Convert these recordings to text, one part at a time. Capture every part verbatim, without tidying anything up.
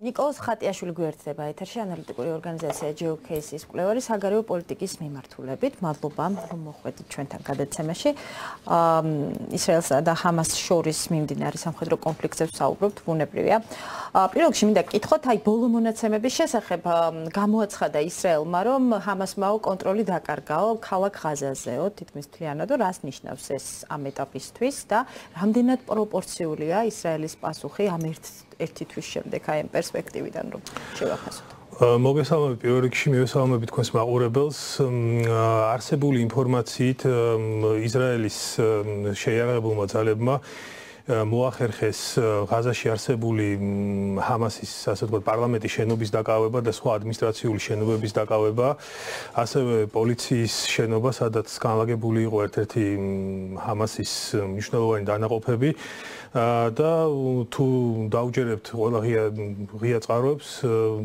ნიკოლოზ ხატიაშვილი გვერდება ეთერში ანალიტიკური ორგანიზაცია ჯეოკეისის მკვლევარი საგარეო პოლიტიკის მიმართულებით. მადლობა რომ მოხვედით ჩვენთან გადაცემაში. ისრაელსა და ჰამას შორის მიმდინარე სამხედრო კონფლიქტზე ვსაუბრობთ, ბუნებრივია. პირველ რიგში მინდა გკითხოთ, აი ბოლო მონაცემების შესახებ გამოაცხადა ისრაელმა, რომ ჰამასმაო კონტროლი დაკარგაო ქალაქ ღაზაზეო, თითქმის მთლიანად, რას ნიშნავს ეს ამ ეტაპისთვის და რამდენად პროპორციულია ისრაელის პასუხი ამ ერთ ერთი თვის შემდეგ აი ამ პერსპექტივიდან რომ შევახასოთ. მოგესალმებით პირველ რიგში მივესალმებით თქვენს მაყურებელს. არსებული ინფორმაციით ისრაელის შეიარაღებულმა ძალებმა მოახერხეს ღაზაში არსებული ჰამასის ასე ვთქვათ პარლამენტის შენობის დაკავება და სხვა ადმინისტრაციული შენობების დაკავება, ასევე პოლიციის შენობა, სადაც განლაგებული იყო ერთ-ერთი ჰამასის მნიშვნელოვანი დანაყოფები და თუ დაუჯერებთ ყველა ღია ღია წყაროებს,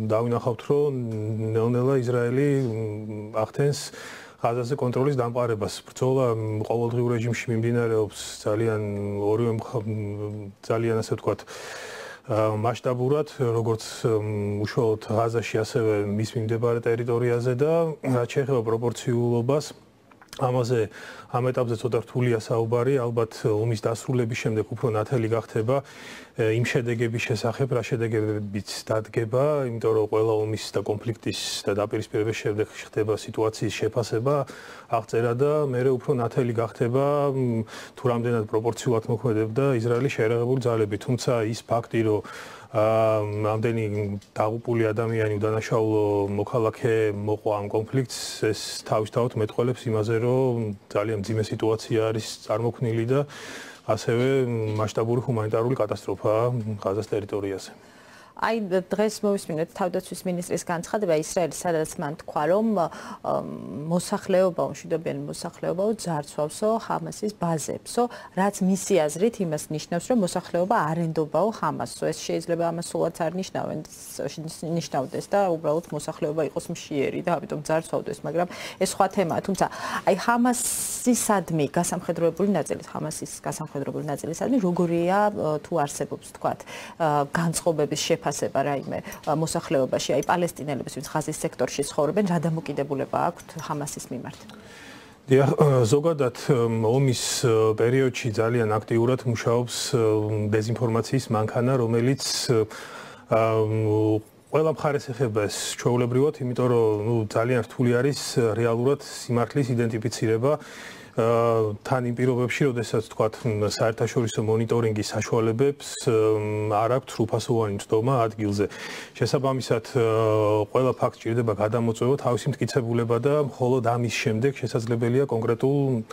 დავინახავთ, რომ ნელ-ნელა ისრაელი ახდენს ღაზაზე კონტროლის დამყარებას. ბრძოლა ყოველდღიურ რეჟიმში მიმდინარეობს ძალიან ორივე ძალიან ასე ვთქვათ მასშტაბურად, როგორც უშუალოდ ღაზაში, ასევე მის მიმდებარე ტერიტორიაზე და რაც შეეხება პროპორციულობას, ამაზე ამ ეტაპზე ცოტა რთულია საუბარი, ალბათ ომის დასრულების შემდეგ უფრო ნათელი გახდება იმ შედეგების შესახებ, რა შედეგებიც დადგება, იმიტომ რომ ყველა ომის და კონფლიქტის და დაპირისპირების შემდეგ ხდება სიტუაციის შეფასება, აღწერა და მერე უფრო ნათელი გახდება თუ რამდენად პროპორციულად მოქმედებდა ისრაელის შეიარაღებული ძალები, თუმცა ის ფაქტი, რომ ამდენი დაღუპული ადამიანი უდანაშაულო მოქალაქე მოყვა ამ კონფლიქტს, ეს თავისთავად მეტყველებს იმაზე, რომ ძალიან მძიმე სიტუაცია არის წარმოქმნილი და ასევე მასშტაბური ჰუმანიტარული კატასტროფაა ღაზას ტერიტორიაზე. აი დღეს მოვისმინეთ თავდაცვის მინისტრის განცხადება ისრაელის, სადაც მან თქვა, რომ მოსახლეობა, მშვიდობიანი მოსახლეობაო ძარცვავსო ჰამასის ბაზებსო, რაც მისი აზრით იმას ნიშნავს, რომ მოსახლეობა არენდობაო ჰამასსო. ეს შეიძლება ამას სულაც არ ნიშნავენ, ნიშნავდეს და უბრალოდ მოსახლეობა იყოს მშიერი და ამიტომ ძარცვავდეს, მაგრამ ეს სხვა თემაა. თუმცა აი ჰამასისადმი გასამხედროებული ნაწილი, ჰამასის გასამხედროებული ნაწილისადმი როგორია თუ არსებობს თქვათ განწყობების შეფასება ფასება რაიმე მოსახლეობაში, აი პალესტინელებს, ვინც ღაზის სექტორში ცხოვრობენ, რა დამოკიდებულება აქვთ ჰამასის მიმართ? დიახ, ზოგადად ომის პერიოდში ძალიან აქტიურად მუშაობს დეზინფორმაციის მანქანა, რომელიც ყველა მხარეს ეხება ეს ჩვეულებრივად, იმიტომ რომ ნუ ძალიან რთული არის რეალურად სიმართლის იდენტიფიცირება. თან იმ პირობებში, როდესაც თქვათ საერთაშორისო მონიტორინგის საშუალებებს არ აქვთ სრულფასოვანი მცდომა ადგილზე. შესაბამისად, ყველა ფაქტს ჭირდება გადამოწვევა, თავისი მტკიცებულება და მხოლოდ ამის შემდეგ შესაძლებელია კონკრეტულ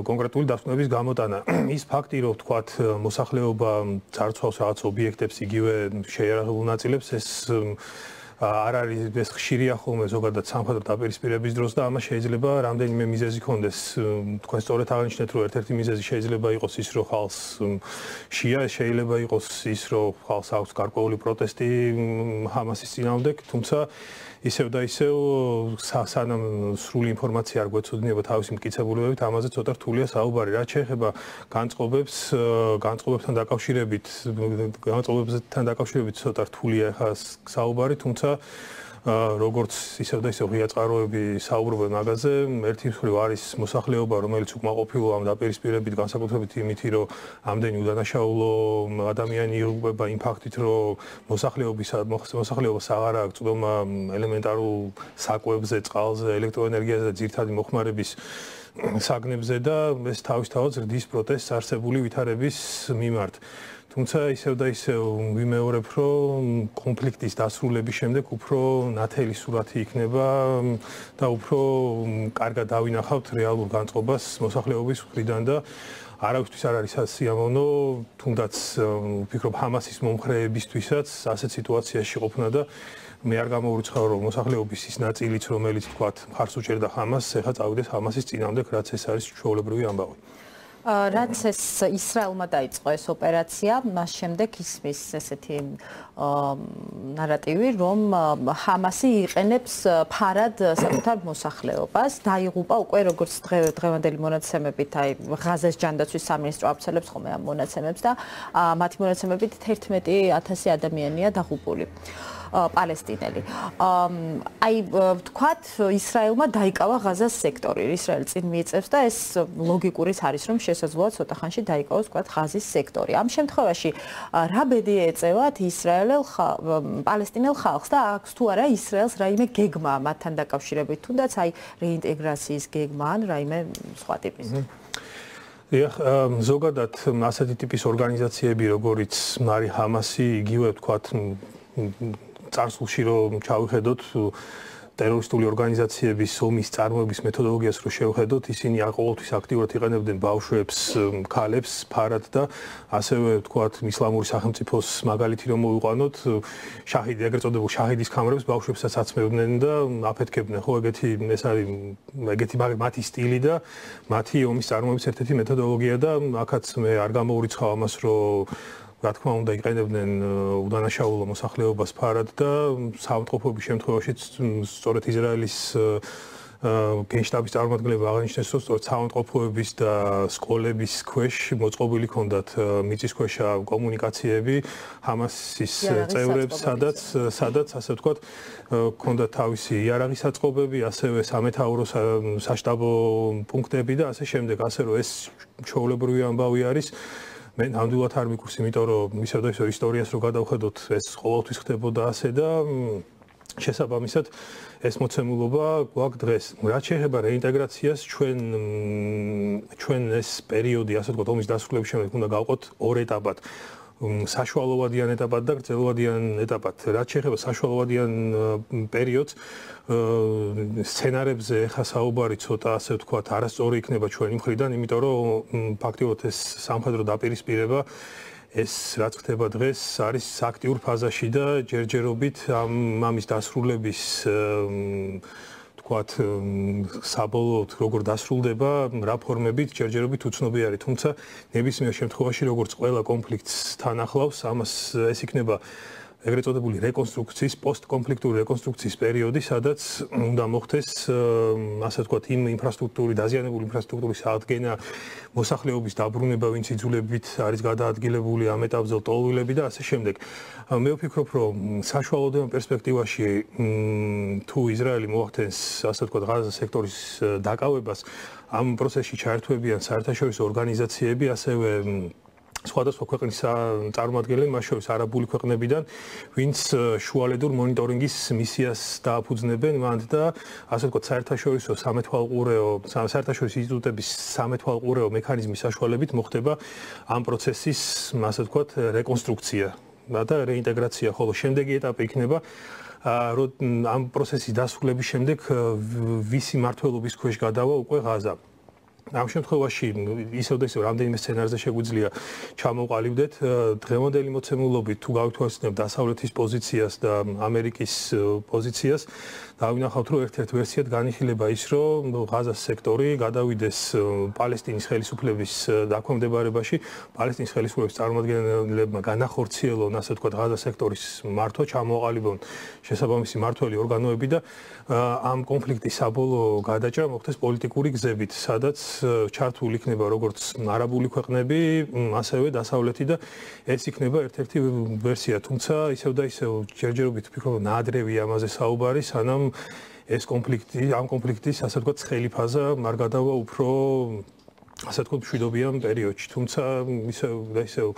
კონკრეტული დასკვნების გამოტანა. ის ფაქტი, რომ თქვათ მოსახლეობა ძარცვავს რაღაც ობიექტებს, იგივე შეიარაღებულ ნაწილებს, ეს არ არის ეს ხშირია ხოლმე ზოგადად სამხედრო დაპირისპირების დროს და ამას შეიძლება რამდენიმე მიზეზი ქონდეს. თქვენ სწორედ აღნიშნეთ, რომ ერთ-ერთი მიზეზი შეიძლება იყოს ის, რომ ხალხს შია, შეიძლება იყოს ის, რომ ხალხს აქვს გარკვეული პროტესტი ჰამასის წინააღმდეგ, თუმცა ისევ და ისევ სანამ სრული ინფორმაცია არ გვეცოდინება თავისი მტკიცებულებებით, ამაზე ცოტა რთულია საუბარი. რაც შეეხება განწყობებს, განწყობებთან დაკავშირებით, განწყობებთან დაკავშირებით ცოტა რთულია ხა საუბარი, თუმცა როგორც ისევ და ისევ ღია წყაროები საუბრობენ მაგაზე, ერთი მხრივ არის მოსახლეობა, რომელიც უკმაყოფილო ამ დაპირისპირებით, განსაკუთრებით იმით, რომ ამდენი უდანაშაულო ადამიანი იღუპება იმ ფაქტით, რომ მოსახლეობის მოსახლეობას აღარ აქვს წვდომა ელემენტარულ საკვებზე, წყალზე, ელექტროენერგიაზე და ძირითადი მოხმარების საგნებზე და ეს თავისთავად ზრდის პროტესტს არსებული ვითარების მიმართ. თუმცა ისევ და ისევ ვიმეორებ, რომ კონფლიქტის დასრულების შემდეგ უფრო ნათელი სურათი იქნება და უფრო კარგად დავინახავთ რეალურ განწყობას მოსახლეობის მხრიდან და არავისთვის არ არის სიამოვნო, თუნდაც ვფიქრობ ჰამასის მომხრეებისთვისაც ასეთ სიტუაციაში ყოფნა და მე არ გამოვრიცხავ, რომ მოსახლეობის ის ნაწილიც, რომელიც თქვათ მხარს უჭერდა ჰამასს, ეხლა წავიდეს ჰამასის წინააღმდეგ, რაც ეს არის ჩვეულებრივი ამბავი. რაც ეს ისრაელმა დაიწყო ეს ოპერაცია, მას შემდეგ ისმის ესეთი ნარატივი, რომ ჰამასი იყენებს ფარად საკუთარ მოსახლეობას, დაიღუპა უკვე როგორც დღევანდელი მონაცემებით, აი ღაზას ჯანდაცვის სამინისტრო აფცელებს ხოლმე ამ მონაცემებს და მათი მონაცემებით თერთმეტი ათასი ადამიანია დაღუპული. პალესტინელი. აი ვთქვათ, ისრაელმა დაიკავა ღაზას სექტორი, ისრაელი წინ მიიწევს და ეს ლოგიკურიც არის, რომ შესაძლოა ცოტა ხანში დაიკავოს ვთქვათ ღაზის სექტორი. ამ შემთხვევაში რა ბედი ეწევათ ისრაელელ პალესტინელ ხალხს და აქვს თუ არა ისრაელს რაიმე გეგმა მათთან დაკავშირებით, თუნდაც აი რეინტეგრაციის გეგმა ან რაიმე სხვა ტიპის. ეხ ზოგადად ასეთი ტიპის ორგანიზაციები, როგორიც მარი ჰამასი, იგივე ვთქვათ წარსულში რომ ჩავიხედოთ ტერორისტული ორგანიზაციების ომის წარმოების მეთოდოლოგიას რო შევხედოთ, ისინი ყოველთვის აქტიურად იყენებდნენ ბავშვებს, ქალებს, ფარად და ასევე ვთქვათ ისლამური სახელმწიფოს მაგალითი რომ მოვიყვანოთ, შაჰიდი, ეგრეთ წოდებულ შაჰიდის კამერებს ბავშვებსაც აცმევდნენ და აფეთქებდნენ. ხო, ეგეთი ეს არის ეგეთი მათი სტილი და მათი ომის წარმოების ერთ-ერთი მეთოდოლოგია და აქაც მე არ გამოურიცხავ ამას, რომ რა თქმა უნდა იყენებდნენ უდანაშაულო მოსახლეობას ფარად და საავადმყოფოების შემთხვევაშიც სწორედ ისრაელის გენშტაბის წარმომადგენლები აღნიშნეს, რომ სწორედ საავადმყოფოების და სკოლების ქვეშ მოწყობილი ჰქონდათ მიწისქვეშა კომუნიკაციები ჰამასის წევრებს, სადაც სადაც ასე ვთქვათ ჰქონდათ თავისი იარაღის აწყობები, ასევე სამეთაურო საშტაბო პუნქტები და ასე შემდეგ, ასე რომ ეს ჩვეულებრივი ამბავი არის. მე ნამდვილად არ მიქურს, იმიტომ რომ ისევ და ისევ ისტორიას რო გადავხედოთ, ეს ყოველთვის ხდებოდა ასე და შესაბამისად ეს მოცემულობა გვაქვს დღეს. რაც შეეხება რეინტეგრაციას, ჩვენ ჩვენ ეს პერიოდი, ასე ვთქვათ, ომის დასრულების შემდეგ უნდა გავყოთ ორ ეტაპად. საშუალოვადიან ეტაპად და გრძელვადიან ეტაპად. რაც შეეხება საშუალოვადიან პერიოდს, სცენარებზე ხა საუბარი ცოტა ასე ვთქვათ, არასწორი იქნება ჩვენი მხრიდან, იმიტომ რომ ფაქტიურად ეს სამხედრო დაპირისპირება ეს რაც ხდება დღეს არის აქტიურ ფაზაში და ჯერჯერობით ამ ამის დასრულების ვთქვათ, საბოლოოდ როგორ დასრულდება რა ფორმებით ჯერჯერობით უცნობი არის, თუმცა ნებისმიერ შემთხვევაში როგორც ყველა კონფლიქტს თან ახლავს, ამას ეს იქნება ეგრეთ წოდებული რეკონსტრუქციის, პოსტკონფლიქტური რეკონსტრუქციის პერიოდი, სადაც უნდა მოხდეს ასე ვთქვათ, იმ ინფრასტრუქტურის, დაზიანებული ინფრასტრუქტურის აღდგენა, მოსახლეობის დაბრუნება, ვინც იძულებით არის გადაადგილებული ამ ეტაპზე ლტოლვილები და ასე შემდეგ. მე ვფიქრობ, რომ საშუალოდან პერსპექტივაში თუ ისრაელი მოახდენს, ასე ვთქვათ, ღაზას სექტორის დაკავებას, ამ პროცესში ჩაერთვებიან საერთაშორისო ორგანიზაციები, ასევე სხვადასხვა ქვეყნის წარმომადგენლები, მათ შორის არაბული ქვეყნებიდან, ვინც შუალედურ მონიტორინგის მისიას დააფუძნებენ მანდ და ასე ვთქვათ, საერთაშორისო სამეთვალყურეო, საერთაშორისო ინსტიტუტების სამეთვალყურეო მექანიზმის საშუალებით მოხდება ამ პროცესის, ასე ვთქვათ, რეკონსტრუქცია და რეინტეგრაცია, ხოლო შემდეგი ეტაპი იქნება რომ ამ პროცესის დასრულების შემდეგ ვისი მმართველობის ქვეშ გადავა უკვე ღაზა. ამ შემთხვევაში ისევ და ისევ რამდენიმე სცენარზე შეგვიძლია ჩამოვყალიბდეთ დღევანდელი მოცემულობით თუ გავითვალისწინებთ დასავლეთის პოზიციას და ამერიკის პოზიციას დავინახავთ რომ ერთ-ერთ ვერსიად განიხილება ის რომ ღაზას სექტორი გადავიდეს პალესტინის ხელისუფლების დაქვემდებარებაში პალესტინის ხელისუფლების წარმომადგენლებმა განახორციელონ ასე ვთქვათ ღაზას სექტორის მართვა ჩამოყალიბონ შესაბამისი მმართველი ორგანოები და ამ კონფლიქტის საბოლოო გადაჭრა მოხდეს პოლიტიკური გზებით სადაც ჩართული იქნება როგორც არაბული ქვეყნები, ასევე დასავლეთი და ეს იქნება ერთ-ერთი ვერსია, თუმცა ისევ და ისევ ჯერჯერობით ვფიქრობ, ნაადრევია ამაზე საუბარი, სანამ ეს კონფლიქტი, ამ კონფლიქტის, ასე ვთქვათ, ცხელი ფაზა არ გადავა უფრო, ასე ვთქვათ, მშვიდობიან პერიოდში, თუმცა ისევ და ისევ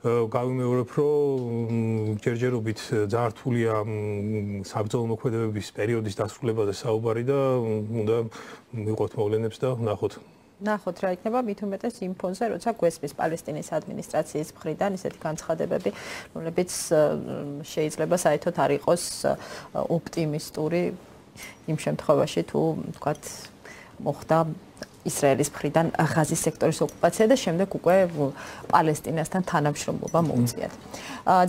გავიმეორებ, რომ ჯერჯერობით ძალიან რთულია საბრძოლო მოქმედებების პერიოდის დასრულებაზე საუბარი და უნდა მივყოთ მოვლენებს და ვნახოთ. ნახოთ რა იქნება მით უმეტეს იმ ფონზე, როცა გვესმის პალესტინის ადმინისტრაციის მხრიდან ისეთი განცხადებები, რომლებიც შეიძლება საერთოდ არ იყოს ოპტიმისტური იმ შემთხვევაში, თუ ვთქვათ, მოხდა ისრაელის მხრიდან ღაზის სექტორის ოკუპაცია და შემდეგ უკვე პალესტინასთან თანამშრომლობა მოუწიათ.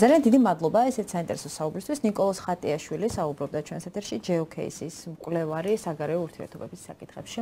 ძალიან დიდი მადლობა ესეც საინტერესო საუბრისთვის. ნიკოლოზ ხატიაშვილი საუბრობდა ჩვენს ეთერში ჯეოკეისის მკვლევარი საგარეო ურთიერთობების საკითხებში.